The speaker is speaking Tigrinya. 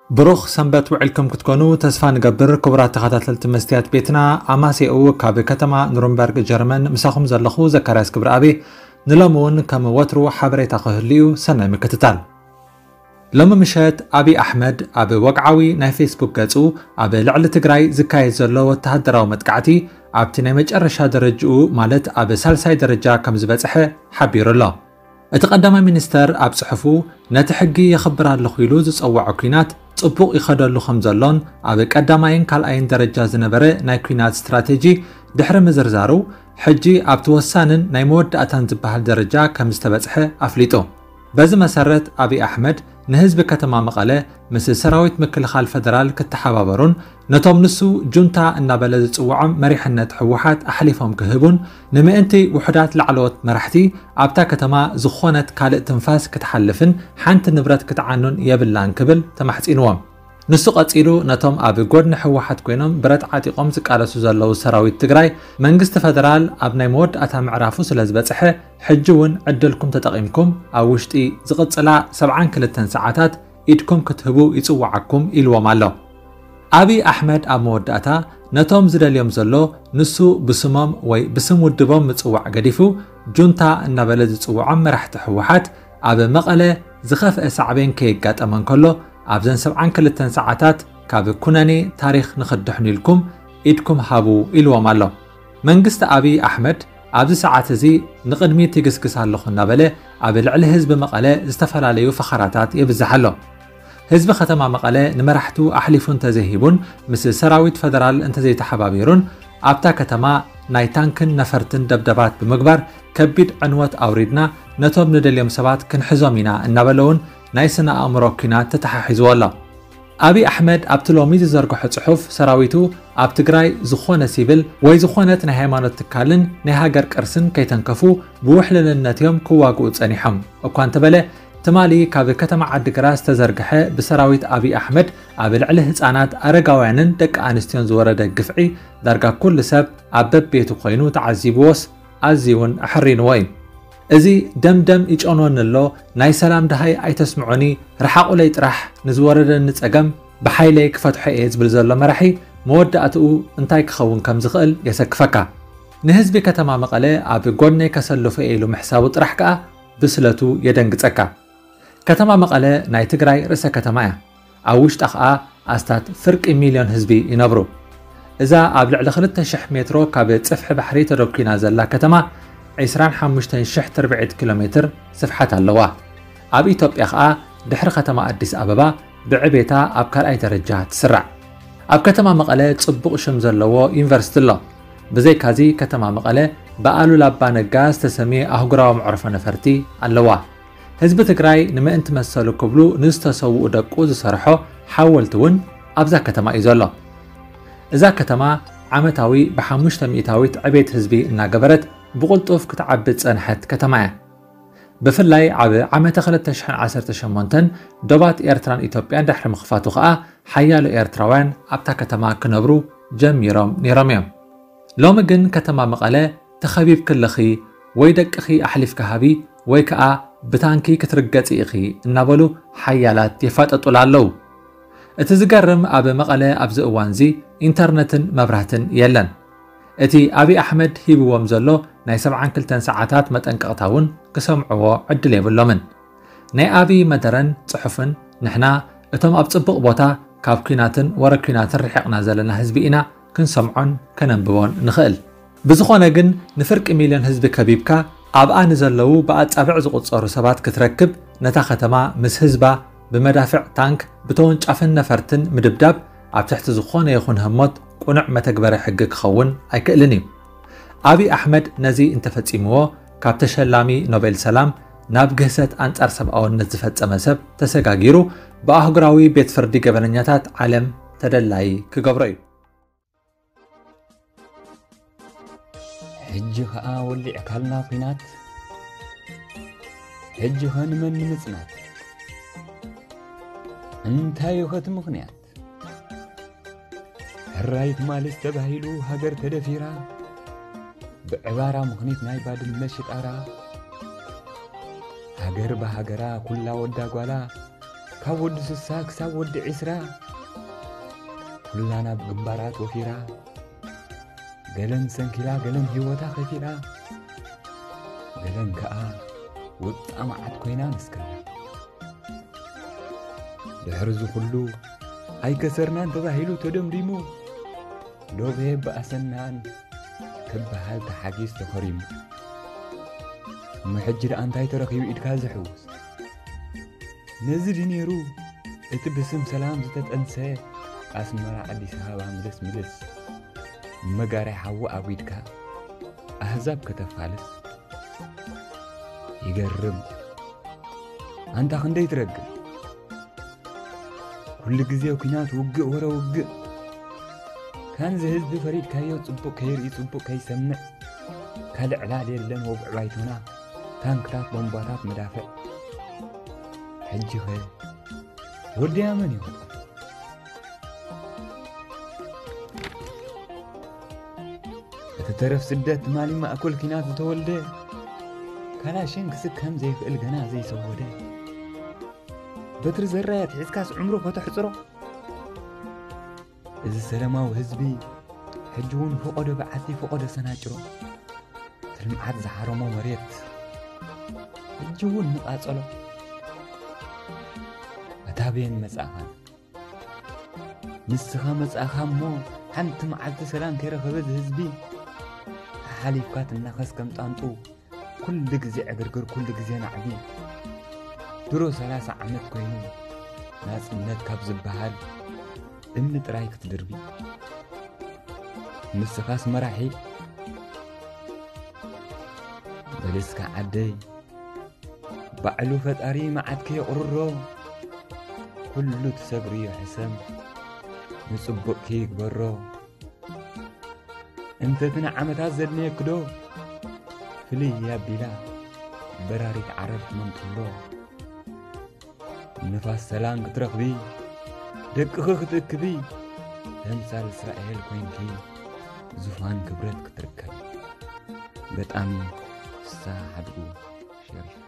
ብሩኽ ሰንበት ውዕልኩም ክትኮኑ ተስፋ ንገብር። ክቡራት ተኸታተልቲ መስትያት ቤትና፣ ኣማሴኡ ካብ ከተማ ኑርንበርግ ጀርመን ምሳኹም ዘለኹ ዘካርያስ ክብረኣብ። ንሎሚ እውን ከም ወትሩ ሓበሬታ ክህሉ እዩ። ሰናይ ምክትታል። ሎሚ ምሸት ኣብይ ኣሕመድ ኣብ ወግዓዊ ናይ ፌስቡክ ገጹ ኣብ ልዕሊ ትግራይ ዝካየድ ዘሎ ወተሃደራዊ መጥቃዕቲ ኣብቲ ናይ መጨረሻ ደረጅኡ ማለት ኣብ ሳልሳይ ደረጃ ከም ዝበጽሐ ሓቢሩ ኣሎ። እቲ ቀዳማይ ሚኒስተር ኣብ ጽሑፉ ነቲ ሕጊ የኽብር ኣለኹ ኢሉ ዝጸውዖ ኲናት ጽቡቕ ይኸደሉ ከም ዘሎን ኣብ ቀዳማይን ካልኣይን ደረጃ ዝነበረ ናይ ኲናት ስትራቴጂ ድሕሪ ምዝርዛሩ ሕጂ ኣብቲ ወሳንን ናይ መወዳእታን ዝበሃል ደረጃ ከም ዝተበጽሐ ኣፍሊጡ። በዚ መሰረት ኣብይ ኣሕመድ ንህዝቢ ከተማ መቐለ ምስ ሰራዊት ምክልኻል ፈደራል ክተሓባበሩን ነቶም ንሱ ጁንታ እናበለ ዝጽውዖም መሪሕነት ህወሓት ኣሕሊፎም ክህቡን ንምእንቲ ውሑዳት ላዕለዎት መራሕቲ ኣብታ ከተማ ዝኾነት ካልእ ትንፋስ ክትሓልፍን ሓንቲ ንብረት ክትዓኑን የብላን ክብል ተማሕጺንዎም። ንሱ ቀጺሉ ነቶም ኣብ ጎድኒ ህወሓት ኮይኖም ብረት ዓጢቖም ዝቃለሱ ዘለዉ ሰራዊት ትግራይ መንግስቲ ፈደራል ኣብ ናይ መወዳእታ ምዕራፉ ስለ ዝበጽሐ ሕጂ እውን ዕድልኩም ተጠቒምኩም ኣብ ውሽጢ ዝቕጽላ ሰብዓን ክልተን ሰዓታት ኢድኩም ክትህቡ ይጽውዓኩም ኢልዎም ኣሎ። ኣብይ ኣሕመድ ኣብ መወዳእታ ነቶም ዝደልዮም ዘሎ ንሱ ብስሞም ወይ ብስም ውድቦም ምጽዋዕ ገዲፉ ጁንታ እናበለ ዝጽውዖም መራሕቲ ህወሓት ኣብ መቐለ ዝኸፍአ ሳዕቤን ከየጋጠመ እንከሎ ኣብዘን ሰብዓን ክልተን ሰዓታት ካብ ኩነኔ ታሪኽ ንኽድሕኑ ኢልኩም ኢድኩም ሃቡ ኢልዎም ኣሎ። መንግስቲ ኣብይ ኣሕመድ ኣብዚ ሰዓት እዚ ንቕድሚት ይግስግስ ኣለኹ እናበለ ኣብ ልዕሊ ህዝቢ መቐለ ዝተፈላለዩ ፈኸራታት የብዝሕ ኣሎ። ህዝቢ ከተማ መቐለ ንመራሕቱ ኣሕሊፉ እንተዘይሂቡን ምስ ሰራዊት ፈደራል እንተዘይተሓባቢሩን ኣብታ ከተማ ናይ ታንክን ነፈርትን ደብደባት ብምግባር ከቢድ ዕንወት ኣውሪድና ነቶም ንደልዮም ሰባት ክንሕዞም ኢና እናበለ እውን ናይ ስነ ኣእምሮ ኲናት ተተሓሒዝዎ ኣሎ። ኣብይ ኣሕመድ ኣብቲ ሎሚ ዝዘርግሖ ጽሑፍ ሰራዊቱ ኣብ ትግራይ ዝኾነ ሲቪል ወይ ዝኾነት ናይ ሃይማኖት ትካልን ናይ ሃገር ቅርስን ከይተንከፉ ብውሕልልነት እዮም ክዋግኡ ጸኒሖም እኳ እንተበለ ትማሊ ካብ ከተማ ዓዲግራት ዝተዘርግሐ ብሰራዊት ኣብይ ኣሕመድ ኣብ ልዕሊ ህጻናት ኣረጋውያንን ደቂ ኣንስትዮን ዝወረደ ግፍዒ ዳርጋ ኩሉ ሰብ ኣብ በቤቱ ኮይኑ ተዓዚብዎስ ኣዝዩ እውን ኣሕሪንዎ እዩ። እዚ ደምደም ይጨንወኒ ኣሎ፣ ናይ ሰላም ደሃይ ኣይተስምዑኒ፣ ርሓቑለይ ጥራሕ፣ ንዝወረደኒ ጸገም ብሓይለይ ክፈትሖ እየ ዝብል ዘሎ መራሒ መወዳእትኡ እንታይ ክኸውን ከም ዝኽእል የሰክፈካ። ንህዝቢ ከተማ መቐለ ኣብ ጎድነይ ከሰልፎ እየ ኢሉ ምሕሳቡ ጥራሕ ከኣ ብስለቱ የደንግጸካ። ከተማ መቐለ ናይ ትግራይ ርእሰ ከተማ እያ። ኣብ ውሽጣ ኸኣ ኣስታት ፍርቂ ሚልዮን ህዝቢ ይነብሩ። እዛ ኣብ ልዕሊ ክልተ ሽሕ ሜትሮ ካብ ጽፍሒ ባሕሪ ተደኲና ዘላ ከተማ ዕስራን ሓሙሽተን ሽሕ ትርብዒት ኪሎ ሜትር ስፍሓት ኣለዋ። ኣብ ኢትዮጵያ ኸኣ ድሕሪ ከተማ ኣዲስ ኣበባ ብዕቤታ ኣብ ካልኣይ ደረጃ ትስራዕ። ኣብ ከተማ መቐለ ጽቡቕ ሽም ዘለዎ ዩኒቨርሲቲ ኣሎ። ብዘይካዚ ከተማ መቐለ ብኣሉላ ኣባ ነጋ ዝተሰምየ ኣህጉራዊ መዕርፎ ነፈርቲ ኣለዋ። ህዝቢ ትግራይ ንምእንቲ መሰሉ ክብሉ ንዝተሰውኡ ደቁ ዝሰርሖ ሓወልቲ እውን ኣብዛ ከተማ እዩ ዘሎ። እዛ ከተማ ዓመታዊ ብሓሙሽተ ሚእታዊት ዕቤት ህዝቢ እናገበረት ብቕልጡፍ ክትዓቢ ዝጸንሐት ከተማ እያ። ብፍላይ ኣብ ዓመተ ክልተ ሽሕን ዓሰርተ ሸሞንተን ዶባት ኤርትራን ኢትዮጵያን ድሕሪ ምኽፋቱ ኸኣ ሓያሎ ኤርትራውያን ኣብታ ከተማ ክነብሩ ጀሚሮም ነይሮም እዮም። ሎሚ ግን ከተማ መቐለ ተኸቢብኪ ኣለኺ፣ ወይ ደቅኺ ኣሕሊፍኪ ሃቢ ወይ ከኣ ብታንኪ ክትርገጺ ኢኺ እናበሉ ሓያላት የፋጠጡላ ኣለዉ። እቲ ዝገርም ኣብ መቐለ ኣብዚ እዋንዚ ኢንተርነትን መብራህትን የለን። እቲ ኣብይ ኣሕመድ ሂብዎም ዘሎ ናይ ሰብዓን ክልተን ሰዓታት መጠንቀቕታ እውን ክሰምዕዎ ዕድል የብሎምን። ናይ ኣብይ መደረን ጽሑፍን ንሕና እቶም ኣብ ጽቡቕ ቦታ ካብ ኲናትን ወረ ኲናትን ርሒቕና ዘለና ህዝቢ ኢና ክንሰምዖን ከነንብቦን ንኽእል። ብዝኾነ ግን ንፍርቂ ሚልዮን ህዝቢ ከቢብካ ኣብኣ ንዘለዉ ብኣጻብዕ ዝቑጸሩ ሰባት ክትረክብ ነታ ከተማ ምስ ህዝባ ብመዳፍዕ ታንክ ብተወንጫፍን ነፈርትን ምድብዳብ ኣብ ትሕቲ ዝኾነ ይኹን ህሞት ቁኑዕ መተግበሪ ሕጊ ክኸውን ኣይክእልን እዩ። ኣብይ ኣሕመድ ነዚ እንተፈጺምዎ ካብ ተሸላሚ ኖቤል ሰላም ናብ ግህሰት ኣንጻር ሰብኣውነት ዝፈጸመ ሰብ ተሰጋጊሩ ብኣህጉራዊ ቤት ፍርዲ ገበነኛታት ዓለም ተደላይ ክገብሮ እዩ። ሕጂ ኸኣ ወሊዕካልና ኲናት፣ ሕጂ ኸ ንመን ንምጽናት? እንታይ እዩ ኸቲ ምኽንያት? ሕራይ ትማልስ ተባሂሉ ሃገር ተደፊራ፣ ብዕባራ ምኽኒት ናይ ባድመ ሽጣራ፣ ሃገር ብሃገራ ኩላ ወዳ ጓላ፣ ካብ ወዲ ስሳ ክሳብ ወዲ ዕስራ፣ ኩላና ብግንባራት ወፊራ፣ ገለን ሰንኪላ፣ ገለን ህይወታ ከፊላ፣ ገለን ከኣ ውጣ መዓት ኮይና ንስከላ። ድሕሪ እዚ ኩሉ ኣይከሰርናን ተባሂሉ ተደምዲሙ፣ ሎቤ በኣሰናን ክበሃል ተሓጊዝ ተኸሪሙ። እሞ ሕጂ ደኣ እንታይ ተረኺቡ ኢድካ ዝሕውስ? ነዚ ድዩ ነይሩ እቲ ብስም ሰላም ዝተጠንሰ ኣስመራ ኣዲስ ኣበባ ምልስ ምልስ? መጋርያ ሓዊ ኣጒድካ ኣህዛብ ከተፋልስ? ይገርም። ኣንታ ክንደይ ትረግም። ኩሉ ግዜ ኲናት ውግእ ወረ ውግእ። ካንዚ ህዝቢ ፈሪድካዮ ጽቡቕ ከይርኢ ጽቡቕ ከይሰምዕ። ካልእ ዕላል የለን ወግዒ ባይቶና። ታንክታት ቦምባታት መዳፍዕ። ሕጂኸ ወዲ ኣመን ይወጣ። እቲ ተረፍ ስደት ትማሊ ማእከል ኲናት ዝተወልደ ካላሽን ክስከም ዘይኽእል ገና ዘይሰወደ በትሪ ዘራይ ኣትሒዝካስ ዕምሩ ከተሕጽሮ። እዚ ሰላማዊ ህዝቢ ሕጂ እውን ፈቐዶ በዓቲ ፈቐዶ ሰናጭሮ እቲ ልምዓት ዝሓረሞ መሬት ሕጂ እውን ንቓጸሎ። ኣታ በየን መጻእኻ? ንስኻ መጻእኻ እሞ ሓንቲ መዓልቲ ሰላም ከይረኸበ እዚ ህዝቢ ሓሓሊፍካ ትናኸስ ከም ጣንጡ። ኩሉ ግዜ ዕግርግር፣ ኩሉ ግዜ ናዕቢ። ድሮ ሰላሳ ዓመት ኮይኑ ናጽነት ካብ ዝበሃል እምኒ ጥራይ ክትድርቢ። ንስኻስ መራሒ በልስካ ዓደይ፣ ባዕሉ ፈጣሪ መዓትከ የቕርሮ። ኩሉ ትሰግርዮ ሕሰም ንጽቡቕኪ ይግበሮ። እንተ እቲ ንዓመታት ዘድነየክዶ ፍልይ ኣቢላ በራሪት ዓረር ትመንጥሎ። ንፋስ ሰላም ክትረኽቢ ደቅኺ ክትእክቢ ተምሳል እስራኤል ኮይንኪ ዙፋን ክብረት ክትርከቢ። ገጣሚ ፍስሃ ሓድጉ ሸሪፍ።